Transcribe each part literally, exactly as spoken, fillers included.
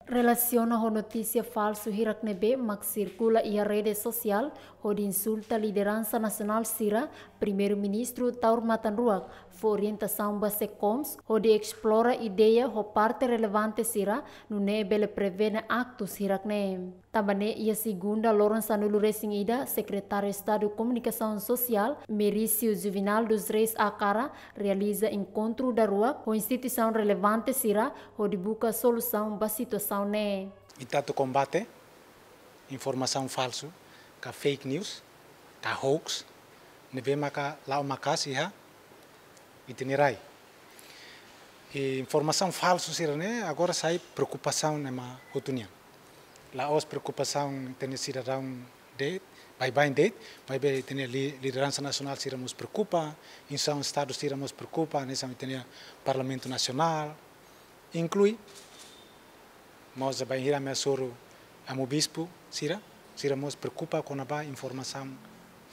Relasiona ho notísia falsu hirak ne'ebé mak sirkula iha rede sosiál hodi insulta lideransa nasionál sira, Primeiru-Ministru Taur Matan Ruak fó orientasaun ba SECOMS hodi esplora ideia ho parte relevante sira, nune'e bele prevene aktus hirak ne'e. Tanba ne'e iha segunda loron sanulu-resin-ida, Sekretáriu Estadu Komunikasaun Sosiál, Merício Juvenal dos Reis Akara, realiza enkontru daruak ho instituisaun relevante sira hodi buka solusaun ba situasaun ne'e. Ita atu kombate informasaun falsu, ka fake news, ka hoax, ne'ebé maka la'o maka'as iha ita-nia rai. I informasaun falsu sira-ne'e agora sai preokupasaun ema hotu nian. La'ós preokupasaun ita-nia sidadaun de'it, baibain de'it, maibé ita-nia li-, lideransa nasionál sira mós preokupa, instituisaun Estadu sira mós preokupa, hanesan ita-nia Parlamentu Nasionál, inklui mós bainhira ami hasoru Amu Bispu sira, sira mós preokupa kona-ba informasaun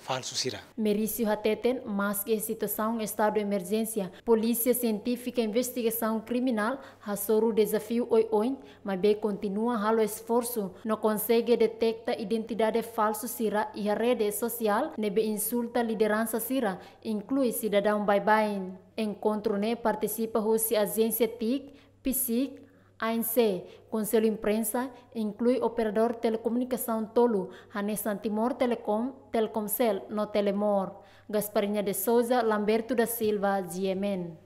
falsu sira. Merício hateten, maski iha situasaun estadu emerjénsia, Polísia Sientífika Investigasaun Kriminál hasoru dezafiu oioin, maibé kontinua halo esforsu no konsege deteta identidade falsu sira iha rede sosiál ne'ebé insulta lideransa sira, inklui sidadaun baibain. Enkontru ne'e partisipa husi ajénsia TIC, PSIC, ANC, Konsellu Imprensa, inklui operadór telekomunikasaun tolu, hanesan Timor Telecom, Telkomcel no Telemor. Gasparinha de Souza, Lamberto da Silva, G M N.